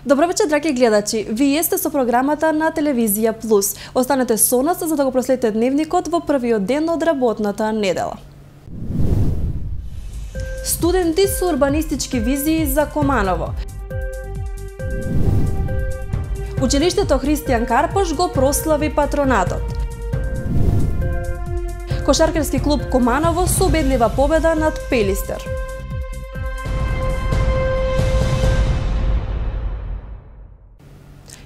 Добро вечер, драги гледачи. Вие сте со програмата на Телевизија Плюс. Останете со нас за да го проследите дневникот во првиот ден од работната недела. Студенти со урбанистички визии за Куманово. Училиштето Христијан Карпош го прослави патронатот. Кошаркерски клуб Куманово со убедлива победа над Пелистер.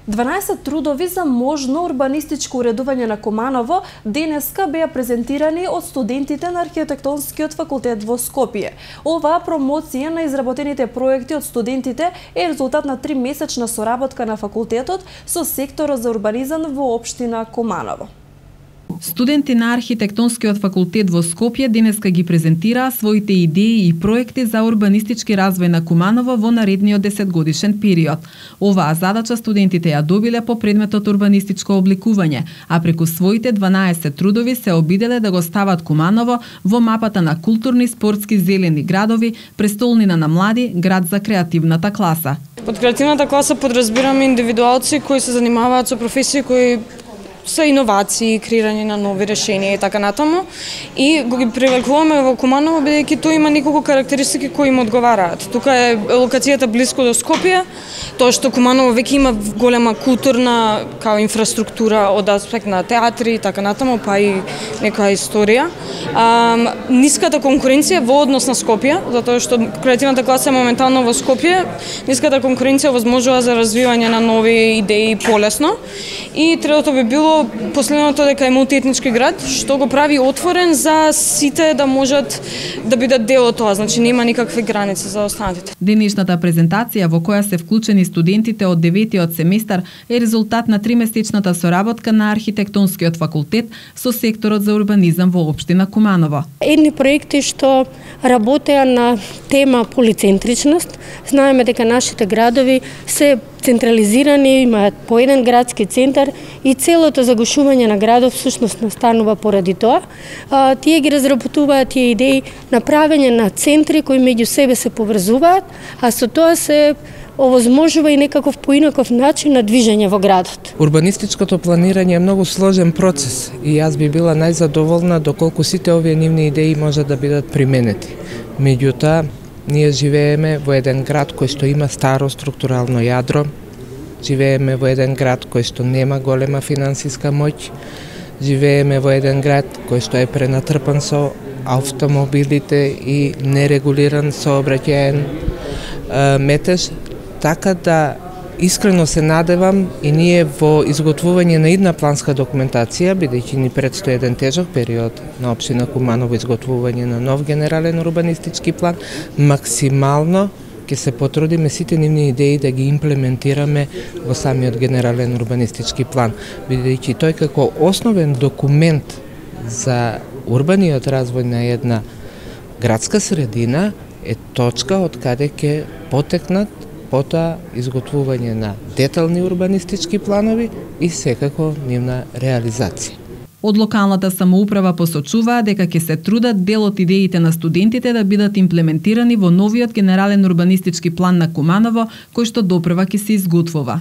Дванаесет трудови за можно урбанистичко уредување на Куманово денеска беа презентирани од студентите на Архитектонскиот факултет во Скопје. Оваа промоција на изработените проекти од студентите е резултат на 3-месечна соработка на факултетот со секторот за урбанизам во општина Куманово. Студенти на Архитектонскиот факултет во Скопје денеска ги презентираа своите идеи и проекти за урбанистички развој на Куманово во наредниот 10-годишен период. Оваа задача студентите ја добиле по предметот урбанистичко обликување, а преку своите 12 трудови се обиделе да го стават Куманово во мапата на културни, спортски, зелени градови, престолнина на млади, град за креативната класа. Под креативната класа подразбираме индивидуалци кои се занимаваат со професии кои се иновации, креирање на нови решенија и така натаму. И го ги привлекуваме во Куманово бидејќи тој има неколку карактеристики кои им одговараат. Тука е локацијата блиско до Скопје, тоа што Куманово веќе има голема културна као инфраструктура од аспект на театри и така натаму, па и некоја историја. Ниската конкуренција во однос на Скопје, затоа што креативната класа е моментално во Скопје, ниската конкуренција возможува за развивање на нови идеи полесно. И третото би било последното дека е мултиетнички град, што го прави отворен за сите да можат да бидат дел од тоа, значи нема никакви граници за останатите. Денешната презентација во која се вклучени студентите од 9-тиот семестар е резултат на 3-месечната соработка на Архитектонскиот факултет со секторот за урбанизам во општина Куманово. Едни проекти што работеа на тема полицентричност, знаеме дека нашите градови се централизирани, имаат по еден градски центар и целото загушување на градов всушност настанува поради тоа. Тие ги разработуваат тие идеи на правење на центри кои меѓу себе се поврзуваат, а со тоа се овозможува и некаков поинаков начин на движење во градот. Урбанистичкото планирање е многу сложен процес и јас би била најзадоволна доколку сите овие нивни идеи можат да бидат применети. Меѓутоа, ние живееме во еден град кој што има старо структурално јадро, живееме во еден град кој што нема голема финансиска моќ, живееме во еден град кој што е пренатрпан со автомобилите и нерегулиран сообраќаен метеж, така да искрено се надевам и ние во изготвување на идна планска документација, бидејќи ни предстои еден тежок период на општина Куманово изготвување на нов генерален урбанистички план, максимално ќе се потрудиме сите нивни идеи да ги имплементираме во самиот генерален урбанистички план, бидејќи тој како основен документ за урбаниот развој на една градска средина е точка од каде ќе потекнат потоа изготвување на детални урбанистички планови и секако нивна реализација. Од локалната самоуправа посочуваа дека ќе се трудат дел од идеите на студентите да бидат имплементирани во новиот генерален урбанистички план на Куманово, кој што допрва ќе се изготвува.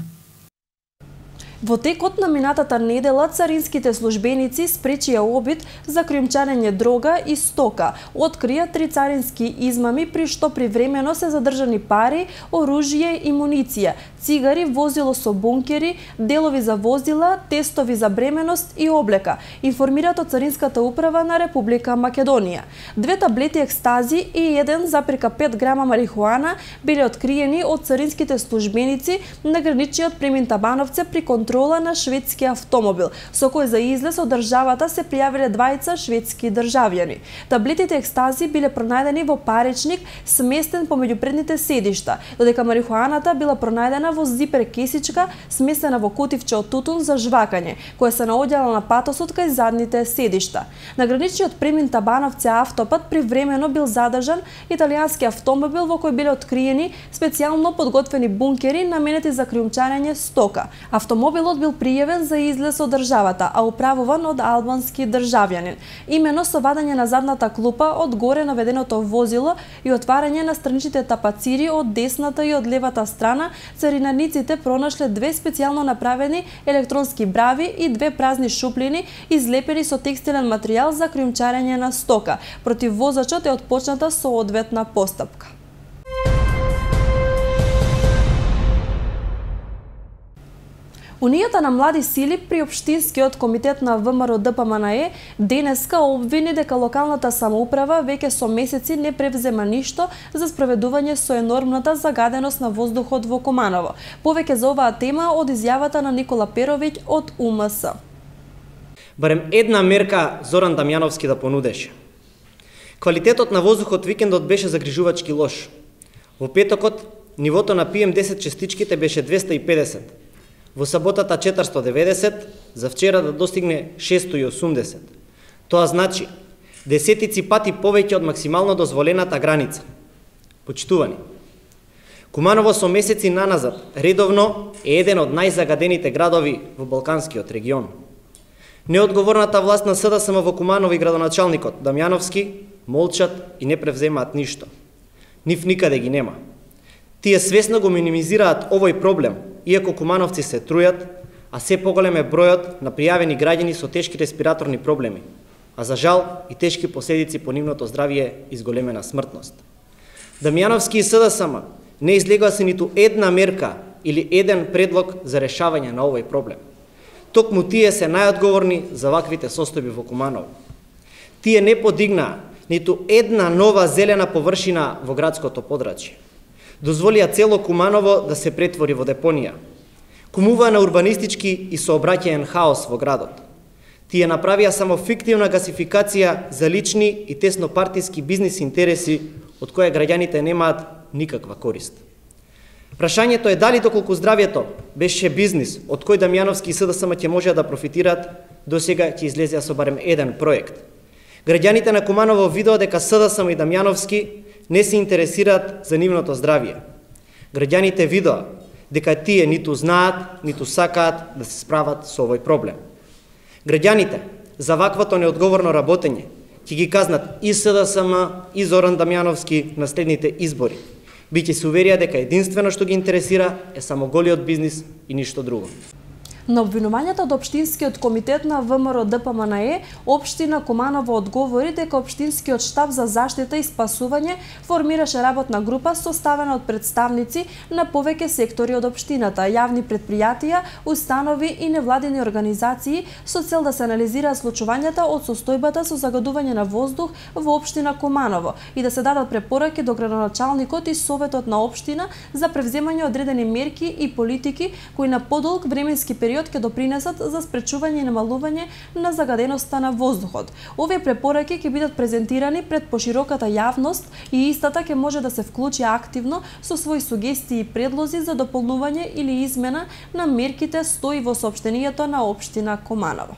Во текот на минатата недела царинските службеници спречија обид за криумчарење дрога и стока. Открија 3 царински измами при што привремено се задржани пари, оружје и муниција, цигари, возило со бункери, делови за возила, тестови за бременост и облека, информираат од Царинската управа на Република Македонија. 2 таблети екстази и 1,5 грама марихуана биле откриени од царинските службеници на граничниот премин Табановце при контрола на шведски автомобил, со кој за излез од државата се пријавиле 2 шведски државјани. Таблетите екстази биле пронајдени во паричник сместен помеѓу предните седишта, додека марихуаната била пронајдена во зипер кесичка смесена во котивче од тутун за жвакање, која се наоѓала на патосот кај задните седишта. На граничниот премин Табановце автопат привремено бил задржан италијански автомобил во кој биле откриени специјално подготвени бункери наменети за криумчарење стока. Автомобилот Хотелот бил пријавен за излез од државата, а управуван од албански државјанин. Имено со вадење на задната клупа од горе наведеното возило и отварање на страничните тапацири од десната и од левата страна, царинаниците пронашле две специјално направени електронски брави и две празни шуплини излепени со текстилен материјал за криумчарење на стока. Против возачот е отпочната соодветна постапка. Унијата на млади сили при Општинскиот комитет на ВМРО ДПМНЕ денеска обвини дека локалната самоуправа веќе со месеци не превзема ништо за спроведување со енормната загаденост на воздухот во Куманово. Повеќе за оваа тема од изјавата на Никола Перовиќ од УМС. Барем една мерка Зоран Дамјановски да понудеше. Квалитетот на воздухот викендот беше загрижувачки лош. Во петокот нивото на PM10 частичките беше 250. Во саботата 490, за вчера да достигне 680. Тоа значи десетици пати повеќе од максимално дозволената граница. Почитувани, Куманово со месеци наназад редовно е еден од најзагадените градови во Балканскиот регион. Неодговорната власт на СДСМ во Куманово и градоначалникот Дамјановски молчат и не превземаат ништо. Нив никаде ги нема. Тие свесно го минимизираат овој проблем, иако кумановци се трујат, а се поголем е бројот на пријавени граѓани со тешки респираторни проблеми, а за жал и тешки последици по нивното здравје и зголемена смртност. Дамјановски и СДСМ не излегува се ниту една мерка или еден предлог за решавање на овој проблем. Токму тие се најодговорни за ваквите состојби во Куманово. Тие не подигнаа ниту една нова зелена површина во градското подрачје. Дозволија цело Куманово да се претвори во депонија. Кумуваа на урбанистички и сообраќаен хаос во градот. Тие направија само фиктивна гасификација за лични и теснопартиски бизнис интереси од која граѓаните немаат никаква корист. Прашањето е дали доколку здравјето беше бизнис од кој Дамјановски и СДСМ ќе можеа да профитираат, досега ќе излезеа со барем еден проект. Граѓаните на Куманово видоа дека СДСМ и Дамјановски не се интересираат за нивното здравје. Граѓаните видоа дека тие ниту знаат, ниту сакаат да се справат со овој проблем. Граѓаните за ваквото неодговорно работење ќе ги казнат и СДСМ и Зоран Дамјановски на следните избори. Биќе се уверија дека единствено што ги интересира е само голиот бизнис и ништо друго. На обвинувањата од Општинскиот комитет на ВМРО ДПМНЕ, Општина Куманово одговори дека Општинскиот штаб за заштита и спасување формираше работна група составена од представници на повеќе сектори од општината, јавни претпријатија, установи и невладини организации со цел да се анализираат случувањата од состојбата со загадување на воздух во Општина Куманово и да се дадат препораки до градоначалникот и советот на општина за превземање одредени мерки и политики кои на подолг временски период ќе допринесат за спречување и намалување на загаденоста на воздухот. Овие препораки ќе бидат презентирани пред пошироката јавност и истата ќе може да се вклучи активно со своји сугестии и предлози за дополнување или измена на мерките, стои во соопштението на Општина Куманово.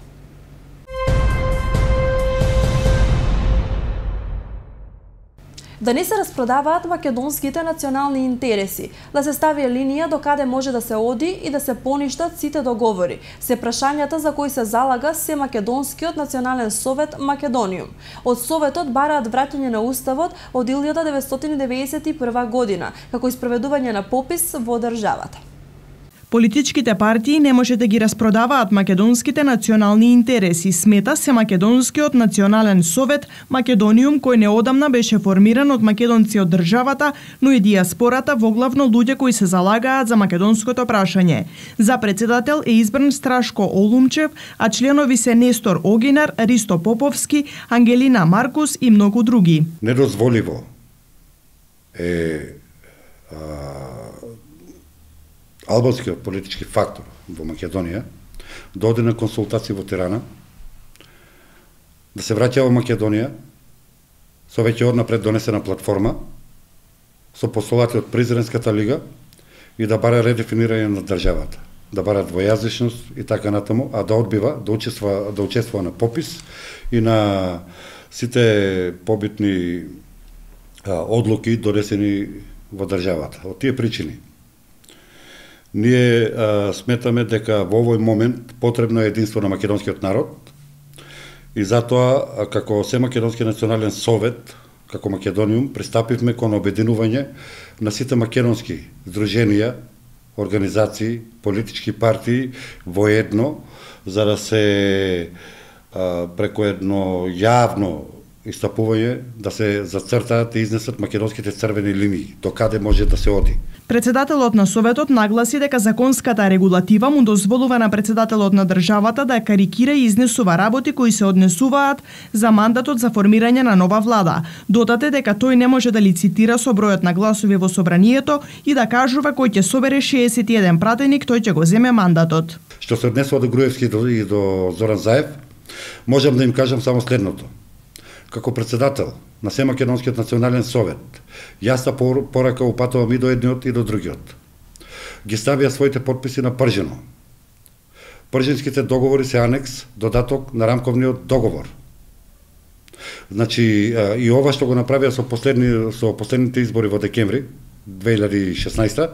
Да не се распродаваат македонските национални интереси, да се стави линија до каде може да се оди и да се поништат сите договори. Се прашањата за кои се залага се Македонскиот национален совет Македониум. Од советот бараат враќање на уставот од 1991 година, како и спроведување на попис во државата. Политичките партии не може да ги распродаваат македонските национални интереси, смета се Македонскиот национален совет Македониум, кој неодамна беше формиран од македонци од државата, но и диаспората, воглавно луѓе кои се залагаат за македонското прашање. За председател е избран Страшко Олумчев, а членови се Нестор Огинар, Ристо Поповски, Ангелина Маркус и многу други. Недозволиво е албанскиот политички фактор во Македонија да оди на консултации во Тирана, да се враќа во Македонија со веќе однапред донесена платформа со постулати од Президентската лига и да бара редефинирање на државата, да бара двојазичност и така натаму, а да одбива да учествува на попис и на сите побитни одлуки донесени во државата. Од тие причини Ние сметаме дека во овој момент потребно е единство на македонскиот народ и затоа како Семакедонски национален совет, како Македониум, пристапивме кон обединување на сите македонски здруженија, организации, политички партии во едно, за да се преку едно јавно истапување да се зацртаат и изнесат македонските црвени линии, до каде може да се оди. Председателот на Советот нагласи дека законската регулатива му дозволува на председателот на државата да карикира и изнесува работи кои се однесуваат за мандатот за формирање на нова влада. Додаде дека тој не може да лицитира со бројот на гласови во собранието и да кажува кој ќе собере 61 пратеник, тој ќе го земе мандатот. Што се однесува до Груевски и до Зоран Заев, можам да им кажам само следното. Како председател на Семакедонскиот национален совет, јас порака упатувам и до едниот и до другиот. Ги ставија своите подписи на пржено. Прженските договори се анекс, додаток на рамковниот договор. Значи, и ова што го направија со последните избори во декември 2016,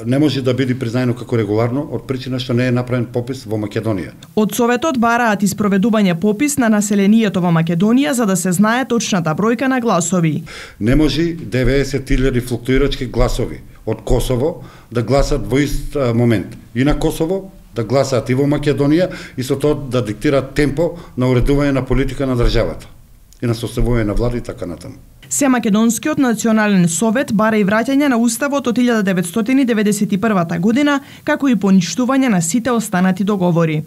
не може да биде признаено како регуларно од причина што не е направен попис во Македонија. Од Советот бараат испроведување попис на населението во Македонија за да се знае точната бројка на гласови. Не може 90.000 флуктуирачки гласови од Косово да гласат во ист момент. И на Косово да гласаат и во Македонија и со тоа да диктираат темпо на уредување на политика на државата и на составување на влада и така натаму. Семакедонскиот национален совет бара и враќање на уставот од 1991 година, како и поништување на сите останати договори.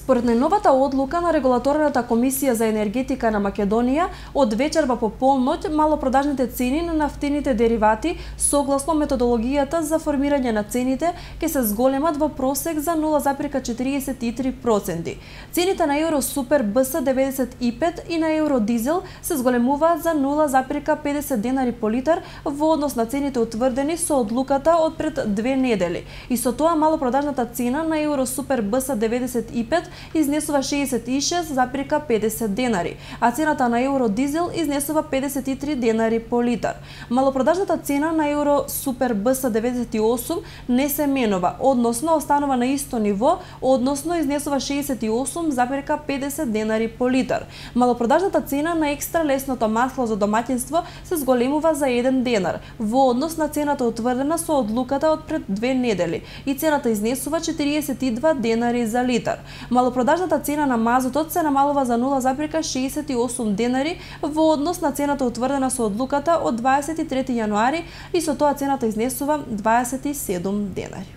Според најновата одлука на Регулаторната комисија за енергетика на Македонија, од вечерва по полноќ малопродажните цени на нафтените деривати согласно методологијата за формирање на цените ќе се зголемат во просек за 0,43%. Цените на евро супер БС 95 и на евро дизел се зголемуваат за 0,50 денари по литар во однос на цените утврдени со одлуката од пред 2 недели. И со тоа малопродажната цена на евро супер БС 95 изнесува 66,50 денари, а цената на евро дизел изнесува 53 денари по литар. Малопродажната цена на евро супер БС 98 не се менува, односно останува на исто ниво, односно изнесува 68,50 денари по литар. Малопродажната цена на екстра лесното масло за домаќинство се зголемува за 1 денар, во однос на цената утврдена со одлуката од пред 2 недели, и цената изнесува 42 денари за литар. Малопродажната цена на мазутот се намалува за 0,68 денари во однос на цената утврдена со одлуката од 23 јануари и со тоа цената изнесува 27 денари.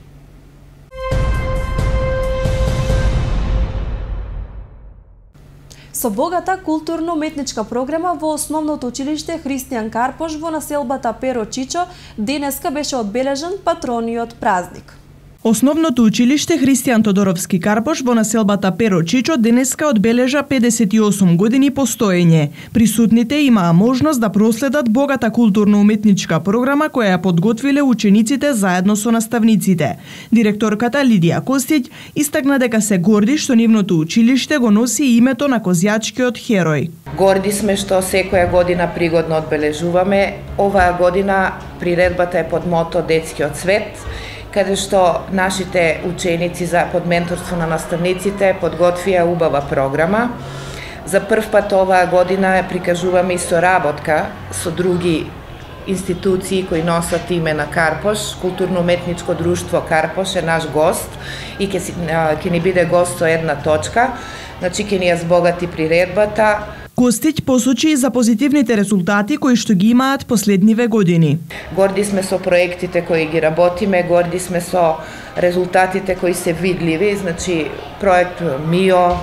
Со богата културно-уметничка програма во основното училиште Христијан Карпош во населбата Перо Чичо денеска беше одбележан патрониот празник. Основното училиште Христијан Тодоровски Карпош во населбата Перо Чичо денеска одбележа 58 години постоење. Присутните имаа можност да проследат богата културно-уметничка програма која ја подготвиле учениците заедно со наставниците. Директорката Лидија Костиќ истакна дека се горди што нивното училиште го носи името на козјачкиот херој. Горди сме што секоја година пригодно одбележуваме. Оваа година приредбата е под мото Детскиот свет, каде што нашите ученици под менторство на наставниците подготвија убава програма. За прв пат оваа година ја прикажуваме и соработка со други институции кои носат име на Карпош. Културно-уметничко друштво Карпош е наш гост и ќе ни биде гост со една точка. Значи ќе ни ја збогати приредбата. Костиќ посочи и за позитивните резултати кои што ги имаат последниве години. Горди сме со проектите кои ги работиме, горди сме со резултатите кои се видливи, значи проект МИО,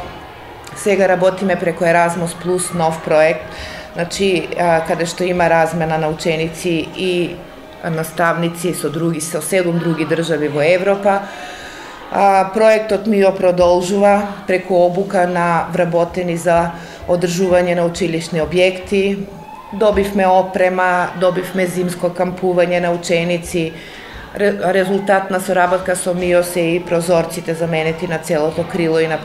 сега работиме преку Еразмус Плюс, нов проект, значи каде што има размена на ученици и наставници со 7 други држави во Европа. Проектот МИО продолжува преку обука на вработени за одржување на училишни објекти. Добивме опрема, добивме зимско кампување на ученици, резултат на соработка со МИОС и прозорците заменети на целото крило и на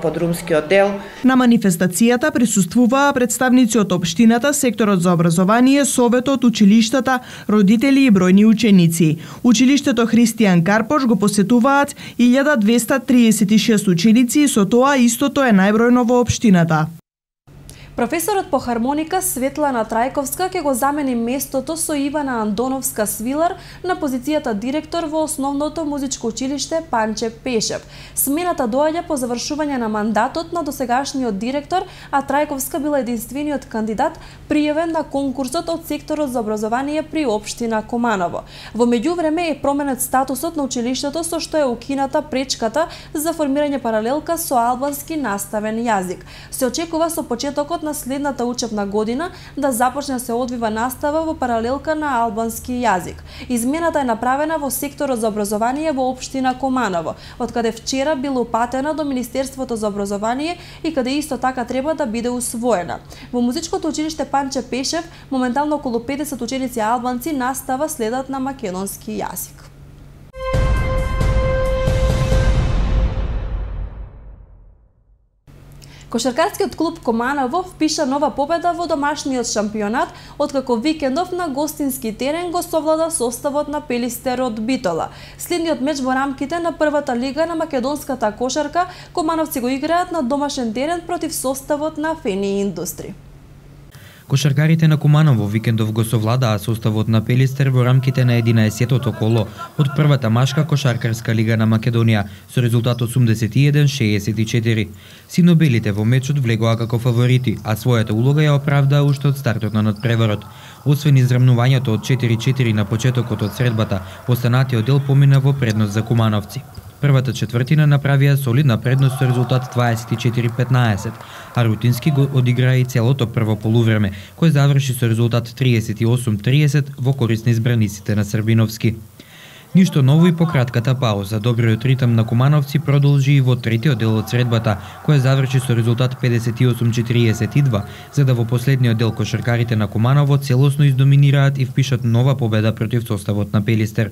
подрумскиот дел. На манифестацијата присуствуваа представници од општината, секторот за образование, советот, училиштата, родители и бројни ученици. Училиштето Христијан Карпош го посетуваат 1236 ученици и со тоа истото е најбројно во општината. Професорот по хармоника Светлана Трајковска ќе го замени местото со Ивана Андоновска Свилар на позицијата директор во Основното музичко училиште Панче Пешев. Смената доаѓа по завршување на мандатот на досегашниот директор, а Трајковска била единствениот кандидат пријавен на конкурсот од секторот за образование при општина Куманово. Во меѓувреме е променет статусот на училиштето со што е укината пречката за формирање паралелка со албански наставен јазик. Се очекува со почетокот на следната учебна година да започне се одвива настава во паралелка на албански јазик. Измената е направена во секторот за образование во општина Куманово, од каде вчера била упатена до Министерството за образование и каде исто така треба да биде усвоена. Во музичкото училиште Панче Пешев моментално околу 50 ученици албанци настава следат на македонски јазик. Кошаркарскиот клуб Куманово впиша нова победа во домашниот шампионат, откако викендов на гостински терен го совлада составот на Пелистер од Битола. Следниот меч во рамките на првата лига на македонската кошарка, кумановци го играат на домашен терен против составот на Фени Индустри. Кошаркарите на Куманово викендов го совладаа составот на Пелистер во рамките на 11-тото коло од првата машка кошаркарска лига на Македонија со резултат 81-64. Синобелите во мечот влегоа како фаворити, а својата улога ја оправдаа уште од стартот на надпреварот. Освен израмнувањето од 4-4 на почетокот од средбата, останатиот дел помина во предност за кумановци. Првата четвртина направија солидна предност со резултат 24-15, а Рутински го одигра и целото прво полувреме, кој заврши со резултат 38-30 во корист на избраниците на Србиновски. Ништо ново и по кратката пауза. Добриот ритам на кумановци продолжи и во третиот дел од средбата, која заврши со резултат 58-42, за да во последниот дел кошаркарите на Куманово целосно издоминираат и впишат нова победа против составот на Пелистер.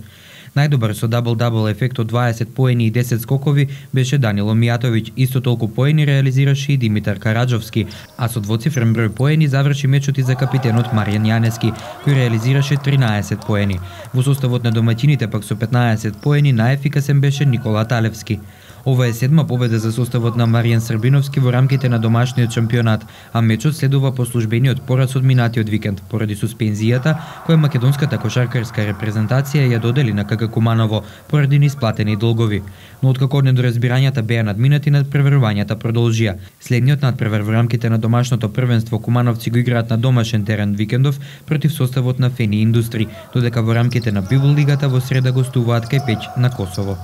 Најдобар со дабл-дабл ефект од 20 поени и 10 скокови беше Данило Мијатовиќ, исто толку поени реализираше и Димитар Караджовски, а со двоцифрен број поени заврши мечот и за капитенот Маријан Јанески, кој реализираше 13 поени. Во составот на домаќините пак со 15 поени најефикасен беше Никола Талевски. Ова е седма победа за составот на Маријан Србиновски во рамките на домашниот шампионат, а мечот следува по службениот пораз од минатиот викенд поради суспензијата која македонската кошаркарска репрезентација ја додели на КК Куманово поради неисплатени долгови. Но откако недоразбирањата беа надминати, надпреварувањата продолжија. Следниот надпревар во рамките на домашното првенство кумановци го играат на домашен терен викендов против составот на Фени Индустри, додека во рамките на Библ лигата во среда гостуваат кај Пеќ на Косово.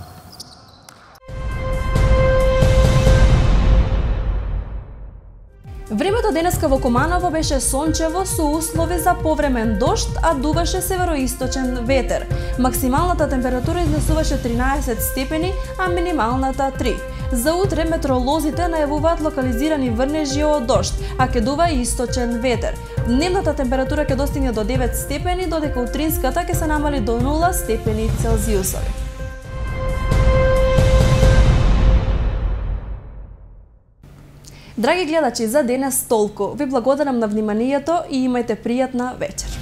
Времето денеска во Куманово беше сончево со услови за повремен дожд, а дуваше североисточен ветер. Максималната температура изнесуваше 13 степени, а минималната 3. За утре метеоролозите најавуваат локализирани врнежи од дожд, а ќе дува и источен ветер. Дневната температура ќе достигне до 9 степени, додека утринската ќе се намали до 0 степени Целзиусови. Драги гледачи, за денес толку. Ви благодарам на вниманието и имајте пријатна вечер.